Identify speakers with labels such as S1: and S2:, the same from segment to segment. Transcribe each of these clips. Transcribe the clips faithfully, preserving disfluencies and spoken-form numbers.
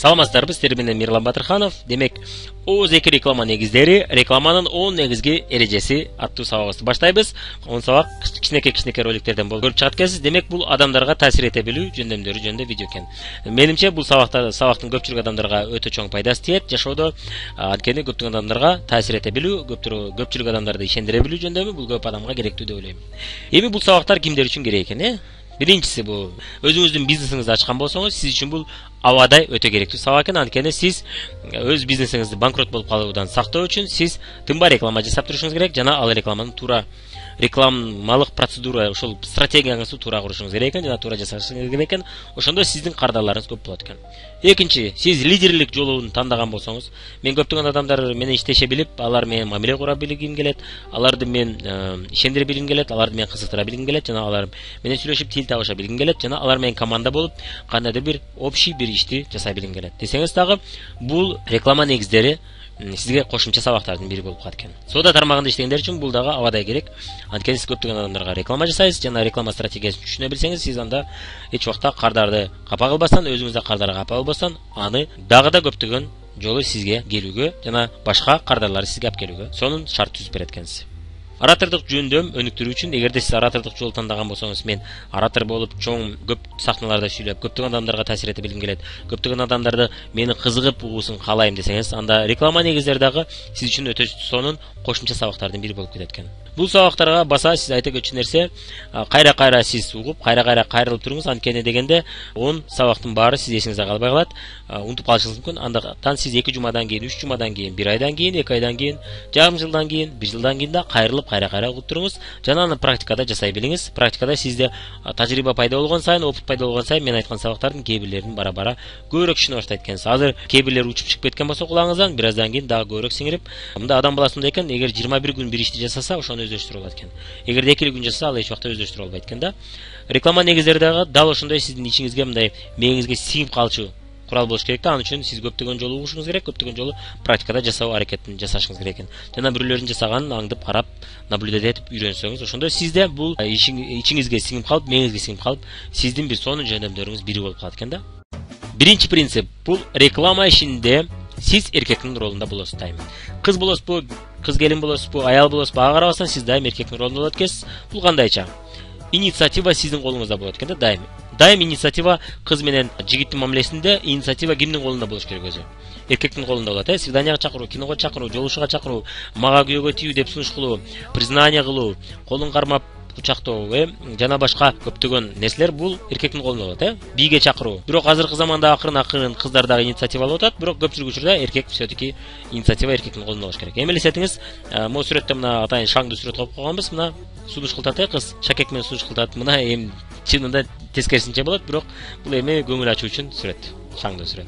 S1: Саламатсыздарбы, сиздер менен Мирлан Батырханов. Демек, Оз эки реклама негиздери, рекламанын он негизги эрежеси аттуу сабагыбызды баштайбыз. он сабак кичинекей-кичинекей роликтерден болуп көрүп чыгат экенсиз. Демек, бул адамдарга таасир эте билүү жөндөмдөрү жөнүндө видео экен. Менимче, бул сабакта сабактын көпчүлүк адамдарга өтө чоң пайдасы тиет. Жашоодо анткени көптөгөн адамдарга таасир эте билүү, көпчүлүк адамдарды ишендире билүү жөндөмү бул көп адамга керектүү деп ойлойм. Эми бул сабактар кимдер үчүн керек экен, э? Биринчиси бул өзүңүздүн бизнесиңизди ачкан болсоңуз, сиз үчүн бул абадай өтө керектүү сабак экен. Анткени сиз өз бизнесиңизди банкрот болуп калуудан сактоо үчүн сиз тынбай реклама жасап турушуңуз керек жана ал рекламаны туура рекламалык процедура, ошол стратегияңызды туура курушуңуз керек экен жана туура жасашыңыз керек экен. Ошондо сиздин кардарларыңыз көп болот экен. Экинчи, сиз лидерлик жолун тандаган болсоңуз, мен көптөгөн адамдар менен иштеше билип, алар менен мамиле кура билгим келет, аларды мен ишендире билгим келет, аларды мен кызыктыра билгим келет жана алар менен сүйлөшүп тил табыша билгим келет жана алар менен команда болуп кандайдыр бир общий бир ишти жасай билгим келет десеңиз дагы, бул реклама негиздери сизге кошумча сабактардын бири болуп калат экен. Соода тармагында иштегендер үчүн бул дагы абадай керек. Анткени сиз көптөгөн адамдарга реклама жасайсыз жана реклама стратегиясын түшүнө билсеңиз, сиз анда эч убакта кардарды капа кылбастан, өзүңүз да кардарды капа кылбастан, аны дагы да көптөгөн жолу сизге келүүгө жана башка кардарларды сизге алып келүүгө сонун шарт түзүп берет экенсиз. Оратордук жөндөм өнүктүрүү үчүн, эгерде сиз оратордук жолду тандаган болсоңуз, мен оратор болуп, чоң көп сахналарда сүйлөп, көптөгөн адамдарга таасир эте билгим келет, көптөгөн адамдарды мени кызыгып угуусун каалайм десеңиз, анда реклама негиздери дагы сиз үчүн өтө сонун кошумча сабактардын бири болуп кетет экен. Бул сабактарга баса сиз айта көчү нерсе, кайра-кайра сиз угуп, кайра-кайра кайрылып туруңуз. Анткени дегенде он сабактын баары сиз эсиңизде калбай калат, унутуп калышыңыз мүмкүн. Андактан сиз эки жумадан кийин, үч жумадан кийин, бир айдан кийин, эки айдан кийин, жарым жылдан кийин, бир жылдан кийин да кайрылып кайра-кайра угуп туруңуз жана аны практикада жасай билиңиз. Практикада сизде тажрыйба пайда болгон сайын, опыт пайда болгон сайын мен айткан сабактардын кээ бирлерин бара-бара көбүрөөк түшүнө баштайт экенсиз. Азыр кээ бирлери учуп чыгып кеткен болсо кулагыңыздан, бир аздан кийин дагы көбүрөөк сиңирип, мында адам баласында экен, эгер жыйырма бир күн бир ишти жасаса, ошону өздөштүрө алат экен. Эгерде эки күн жасаса, ал эч убакта өздөштүрө албайт экен да. Реклама негиздери дагы дал ошондой сиздин ичиңизге мындай мээңизге сиңип калчу курал болуш керек да. Ал үчүн сиз көптөгөн жолу угушуңуз керек, көптөгөн жолу практикада жасоо аракетин жасашыңыз керек экен. Жана бирөөлөрдүн жасаганын аңдып карап, наблюдать этип үйрөнсөңүз, ошондо сизде бул ичиңизге сиңип калып, мээңизге сиңип калып, сиздин бир сонун жөндөмдөрүңүз бири болуп калат экен да. Биринчи принцип бул реклама ишинде сиз эркектин ролунда болосуз дайым. Кыз болосузбу, кыз келин болосузбу, аял болосузбу, ага карабастан сиз дайым эркектин ролунда болот экенсиз. Бул кандайча? Инициатива сиздин колуңузда болот экен да дайым. Дайым инициатива кыз менен жигиттин мамилесинде инициатива кимдин колунда болуш керек өзү? Эркектин колунда болот, э? Свиданияга чакыруу, киного чакыруу, жолугушууга чакыруу, мага күйөөгө тию деп сунуш кылуу, признание кылуу, колун кармап кучактоо, э, жана башка көптөгөн нерселер бул эркектин колунда болот, э? Бийге чакыруу. Бирок азыркы заманда акырын-акырын кыздар дагы инициатива алып атат, бирок көпчүлүк учурда эркек все-таки инициатива эркектин колунда болуш керек. Эми элестетиңиз, могу сүрөттө мына атайын шаңдуу сүрөт коюп койгонбуз, мына сунуш кылтат, э, кыз шакек менен сунуш кылтат. Мына эми чынында тескерисинче болот, бирок бул эми көңүл ачуу үчүн сүрөт, шаңдуу сүрөт.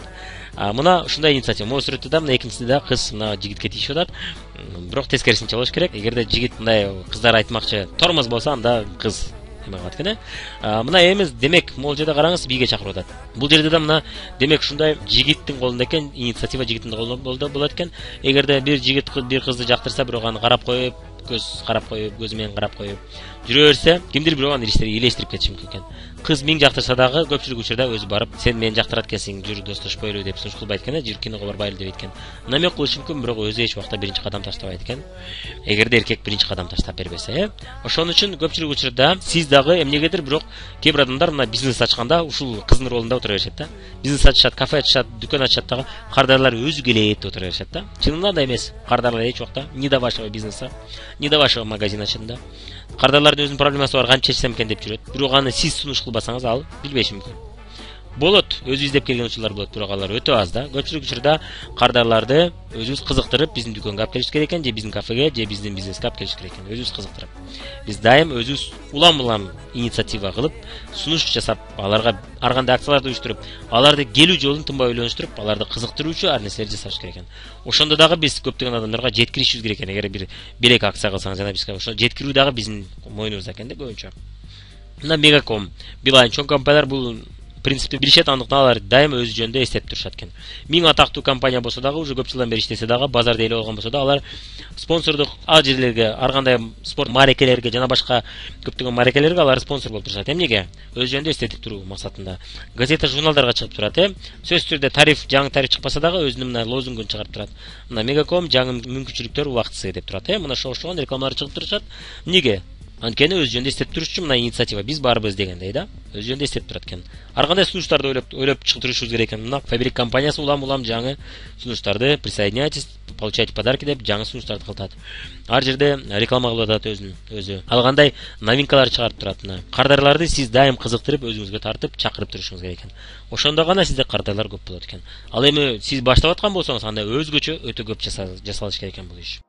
S1: Мына ушундай инициатива. Могу сүрөттө да мына экинчисинде да кыз мына жигитке тийишип атат. Бирок тескерисинче болуш керек. Эгерде жигит мындай кыздар айтмакчы тормоз болсо, анда кыз эме кылат экен, э. Мына эми демек могул жерде караңыз, бийге чакырып атат. Бул жерде да мына демек ушундай жигиттин колунда экен, инициатива жигиттин колунда болот экен. Эгерде бир жигит бир кызды жактырса, бирок аны карап коюп, көз карап коюп, көзү менен карап коюп жүрө берсе, кимдир бирөө аны илештирип кетиши мүмкүн экен. Кыз миң жактырса дагы көпчүлүк учурда өзү барып, сен мени жактырат экенсиң, жүр достошпойлу деп сунуш кылбайт экен, жүр киного барбайлы дейт экен. Намек кылышы мүмкүн, бирок өзү эч убакта биринчи кадам таштабайт экен. Эгерде эркек биринчи кадам таштап бербесе, э. Ошон үчүн көпчүлүк учурда сиз дагы эмнегедир бирок кээ бир адамдар мына бизнес ачканда ушул кыздын ролунда отура беришет да. Бизнес ачышат, кафе ачышат, дүкөн ачышат дагы кардарлар өзү келет деп отура беришет да. Чынында да эмес. Кардарлар эч убакта не до вашего бизнеса, не до вашего магазина чынында. Кардарлардын өзүнүн проблемасы бар, кантип чечсем экен деп жүрөт. Бирок аны сиз сунуш кылбасаңыз ал билбеши мүмкүн. Болот, өзү издеп келген учурлар болот, бирок алар өтө аз да. Көпчүлүк учурда кардарларды өзүбүз кызыктырып, биздин дүкөнгө алып келиш керек экен, же биздин кафеге, же биздин бизнеске алып келиш керек экен, өзүбүз кызыктырып. Биз дайым өзүбүз улам-улам инициатива кылып, сунуш жасап, аларга ар кандай акцияларды уюштуруп, аларды келүү жолун тынбай ойлонуштуруп, аларды кызыктыруучу ар нерселерди жасаш керек экен. Ошондо дагы биз көптөгөн адамдарга жеткиришибиз керек экен. Эгер бир белек акция кылсаңыз жана бизге ошо жеткирүү дагы биздин мойнубузда экен да көбүнчө. Мына Мегаком, Билайн чоң компаниялар бул принципти билишет, андыктан алар дайым өз жөнүндө эстеп турушат экен. Миң атактуу компания болсо дагы, уже көп жылдан бери иштесе дагы, базарда эле болгон болсо да, алар спонсордук ал жерлерге, ар кандай спорт маарекелерге жана башка көптөгөн маарекелерге алар спонсор болуп турушат. Эмнеге? Өз жөнүндө эстетип туруу максатында. Газета, журналдарга чыгып турат, э. Сөзсүз түрдө тариф, жаңы тариф чыкпаса дагы өзүнүн мына лозунгун чыгарып турат. Мына Мегаком жаңы мүмкүнчүлүктөр убактысы деп турат, э. Мына ошо оштогон рекламалар чыгып турушат. Эмнеге? Анткени өз жөнүндө эстеп туруш үчүн мына инициатива биз барбыз дегендей да. Өз жөнүндө эстеп турат экен. Ар кандай сунуштарды ойлоп ойлоп чыгып керек экен. Мына Фабрик компаниясы улам-улам жаңы сунуштарды присоединяйтесь, получайте подарки деп жаңы сунуштарды кылтат. Ар жерде реклама кылып атат өзүн өзү. Ал кандай новинкалар чыгарып турат. Мына кардарларды сиз дайым кызыктырып, өзүңүзгө тартып, чакырып турушуңуз керек экен. Ошондо гана сизде кардарлар көп болот экен. Ал эми сиз баштап аткан болсоңуз, анда өзгөчө өтө көп жасалыш керек экен бул иш.